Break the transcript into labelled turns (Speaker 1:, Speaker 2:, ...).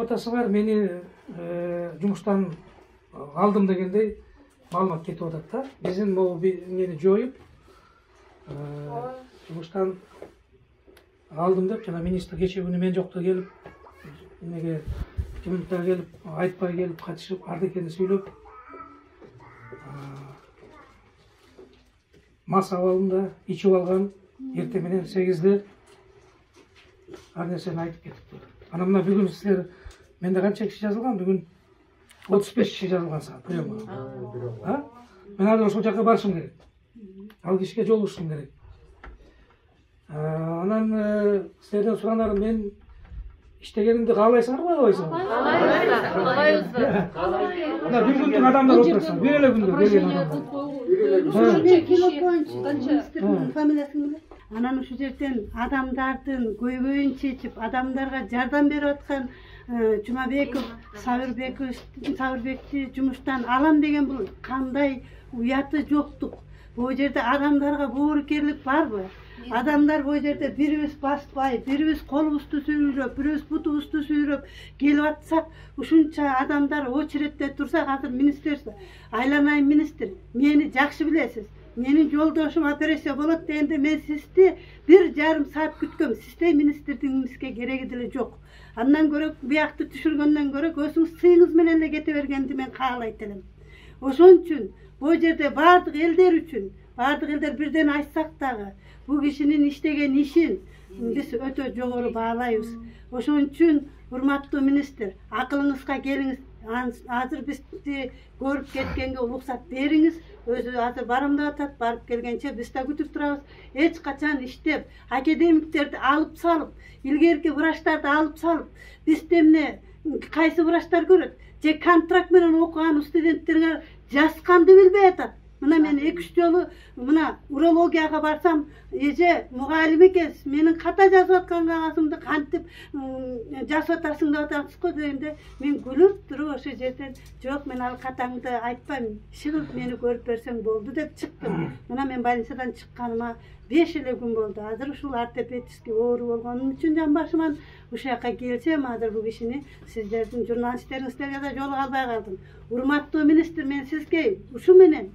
Speaker 1: квотасы бар, мени жумуштан алдым дегендей маалымат кетип атат да. Биздин могу мени жоюп жумуштан алдым деп жана министр кечээ күнү мен жокто келип эмеге жыйынтыкка келип айтпай келип катышып ардекени сүйлөп мас абалында ичип алган, эртең менен 8-де ар нерсени айтып кетиптир. Анан мына бүгүн силер менде канча киши жазылган? Бүгүн 35 киши жазылган сага приемга. Мен азыр ошол жака барышым керек. Ал кишиге жолугушум керек. Анан силерден суранарым, мен иштегенимди каалайсыңарбы, каалайсыңарбы? Каалайбыз. Мына бир күндүк адамдар отурса, бир эле күндө келген адамдар.
Speaker 2: Фамилиясын билет. Анан ушул жерден адамдардын көйгөйүн чечип, адамдарга жардам берип аткан Жумабеков, Сабырбекти жумуштан алам деген бул кандай уяты жоктук. Бул жерде адамдарга боорукерлик барбы? Адамдар бул жерде бирибиз баспай, бирибиз колубузду сүйрөп, бирибиз бутубузду сүйрөп келип атсак, ушунча адамдар очередте турсак, азыр министерство, айланайын министр, мени жакшы билесиз. Менин жолдошум операция болот дегенде мен сизди 1,5 саат күткөм. Сизде министрдиңизге кереги деле жок. Андан көрө биякты түшүргөндөн көрө өзүңүз сыйыңыз менен эле кете бергенди мен каалайт элем. Ошон үчүн бул жерде бардык элдер үчүн, бардык элдер бирден айтсак дагы, бул кишинин иштеген ишин биз өтө жогору баалайбыз. Ошон үчүн урматтуу министр, акылыңызга келиңиз. Азыр бизди көрүп кеткенге уруксат бериңиз. Өзү азыр барам деп атат, барып келгенче биз да күтүп турабыз. Эч качан иштеп, академиктерди алып салып, илгерки врачтарды алып салып, бизде эмне кайсы врачтар көрөт? Же контракт менен окуган студенттерге жазганды билбей атат. Мына мен 2-3 жолу мына урологияга барсам, эже мугалим экенсиз, менин ката жазып аткан кагазымды кантип жазып атасың деп атасыз го дегенде, мен күлүп туруп ошол жерден, жок, мен ал катаңды айтпайм, чыгып мени көрүп берсең болду деп чыктым. Мына мен больницадан чыкканыма 5 эле күн болду. Азыр ушул ортопедический оору болгонум үчүн жамбашыман ушул жака келсем, азыр бул кишини сиздердин журналисттериңиздерге да жолуга албай калдым. Урматтуу министр, мен сизге ушу менен